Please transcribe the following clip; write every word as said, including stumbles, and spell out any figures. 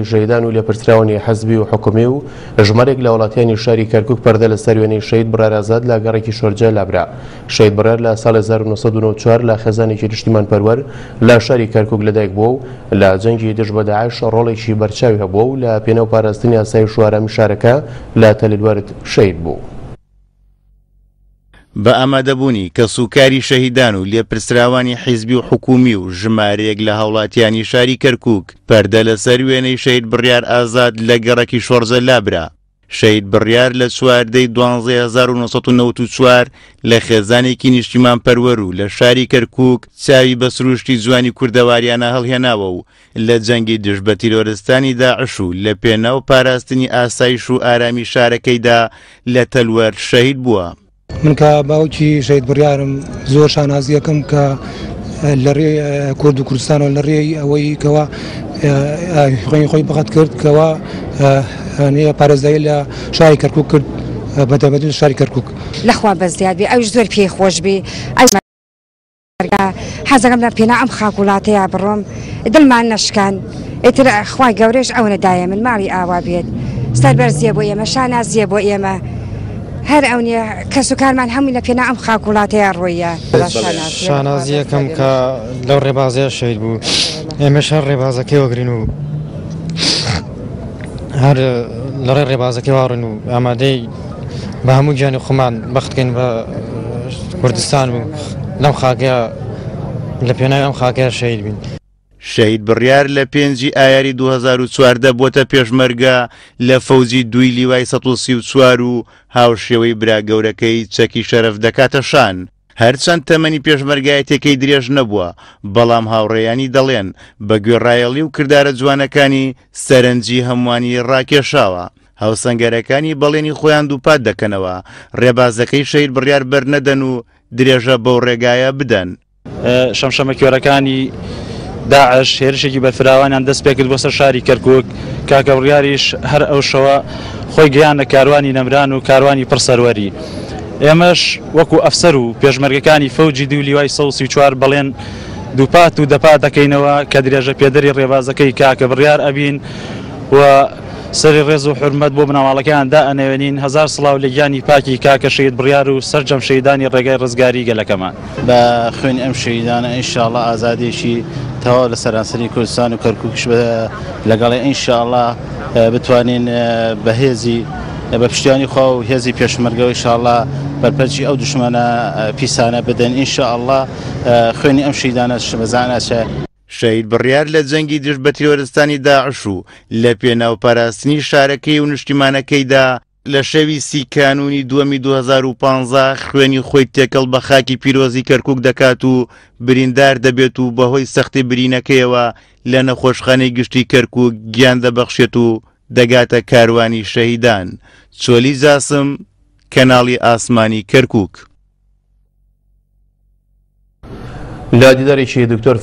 شەهیدان و لێپرسراوانی حزبی و حکومی و ژمارێک لە وڵاتیانی شاری کەرکوک پەردە لەسەر وێنەی شەهید بڕیار ئازاد لە گەڕێکی شۆرجە لابرا. شەهید بڕیار لە ساڵ هەزار و نۆ سەد و نەوەد و چوار لە خێزانێکی نیشتیمانپەروەر لە شاری کەرکوک لەدایک بووە و لە جەنگی دژ بە داعش ڕۆڵێکی بەرچاوی هەبووە و لە پێناو پاراستنی ئاسایش و ئارامی شارەکە لە تەللوەرد شەهید بوو. بە ئامادەبوونی کەسوکاری شەهیدان و لێپرسراوانی حیزبی و حکومی و ژمارەیەک لە هاوڵاتیانی شاری کەرکوک پەردە لەسەر وێنەی شەهید بڕیار ئازاد لە گەڕەکی شۆرجە لابرا. شەهید بڕیار لە چواردەی دوانزەی هەزار و نۆ سەد و نەوەد و چوار لە خێزانێکی نیشتیمانپەروەر و لە شاری کەرکوک چاوی بە سروشتی جوانی کوردەواریانە هەڵهێناوە و لە جەنگی دژ بە تیرۆرستانی داعش و لە پێناو پاراستنی ئاسایش و ئارامی شارەکەیدا لە تەلوەر شەهید بووە. من کە باوکی شەهید بڕیارم زۆر شانازیەکەم کە لە ڕێی کورد و کوردستانەوە لە ڕێی ئەوەی کەوا خوێنی خۆی بەخت کرد کەوا پارێزگاری لە شاری کەرکوک کرد، بەتایبەتی شاری کەرکوک. لەخوا بەزیاد بێ، ئەویش زۆر پێی خۆش بێ. حەزەکەم لە پێنا ئەم خاک وڵاتەیە بڕۆم، دڵمان نەشکان. ئیتر خوای گەورەش ئەوە دایە من ماڵی ئاوا بێت، سەربەرزیە بۆ ئێمە، شانازیە بۆ ئێمە. هەر ئەو نییە کەس و کارمان هەمووی لە پێنا ئەم خاک وڵاتەیە ڕۆیە. شانازیەکەم کە لەو ڕێبازەیە شەهید بوو، ئێمەش هەر ڕێبازەکەی وەگرین و هەر لە ڕێ ڕێبازەکەی واڕین و ئامادەی بە هەموو گیانی خۆمان بەختکەین بە کوردستان و لەم خاکەیە لە پێناوی ئەم خاکەیە شەهید بین. شەهید بڕیار لە پێنجی ئایاری دوو هەزار و چواردە بۆتە پێشمەرگە لە فەوجی دووی لیوای سەد و سی و چوار و هاوشێوەی برا گەورەکەی چەکی شەرەف دەکاتە شان. هەرچەند تەمەنی پێشمەرگایەتەکەی درێژ نەبووە، بەڵام هاوڕێیانی دەڵێن بە گوێڕایەڵی و کردارە جوانەکانی سەرنجی هەمووانی ڕاکێشاوە. هاوسەنگەرەکانی بەڵێنی خۆیان دووپات دەکەنەوە ڕێبازەکەی شەهید بڕیار بەرنەدەن و درێژە بەو ڕێگایە بدەن. شەمشەمەکوێرەکانی داعش هێرشێکی بەرفراوانیان دەست پێکرد بۆ سەر شاری کەرکوک. کاکە بڕیاریش هەر ئەو شەوە خۆی گەیاندە کاروانی نەمران و کاروانی پڕسەروەری. ئێمەش وەکو ئەفسەر و پێشمەرگەکانی فەوجی دوو لیوای سەد و سی و چوار بەڵێن دووپات و دەپات دەکەینەوە کە درێژە پێدەری ڕێبازەکەی کاکە بڕیار ئەبین و سەری ڕێز و حورمەت بۆ بنەماڵەکەیان دائەنەوێنین. هەزار سڵاو لە گیانی پاکی کاکە شەهید بڕیار و سەرجەم شەهیدانی ڕێگای ڕزگاری گەلەکەمان. بە خوێنی ئەم شەهیدانە ئینشاءڵڵا ئازادیەکی تەواو لە سەرانسەری کوردستان و کەرکوکیش لەگەڵێ ئینشاءڵڵا بتوانین بەهێزی بە پشتیوانی خوا و هێزی پێشمەرگەوە ئینشاءڵڵا بەرپەرچی ئەو دشمەنە پیسانە بدەن. ئینشاءڵڵا خوێنی ئەم شەهیدانە بەزان ئەچێ. شەهید بڕیار لە جەنگی دژ بە تیرۆرستانی داعش و لە پێناو پاراستنی شارەکەی و نیشتیمانەکەیدا لە شەوی سی کانوونی دووەمی دوو هەزار و پانزە خوێنی خۆی تێکەڵ بە خاکی پیرۆزی کەرکوک دەکات و بریندار دەبێت و بەهۆی سەختی برینەکەیەوە لە نەخۆشخانەی گشتی کەرکوک گیان دەبەخشێت و دەگاتە کاروانی شەهیدان. چۆلی جاسم، کەناڵی ئاسمانی کەرکوک. لە دیدارێکی دکتۆر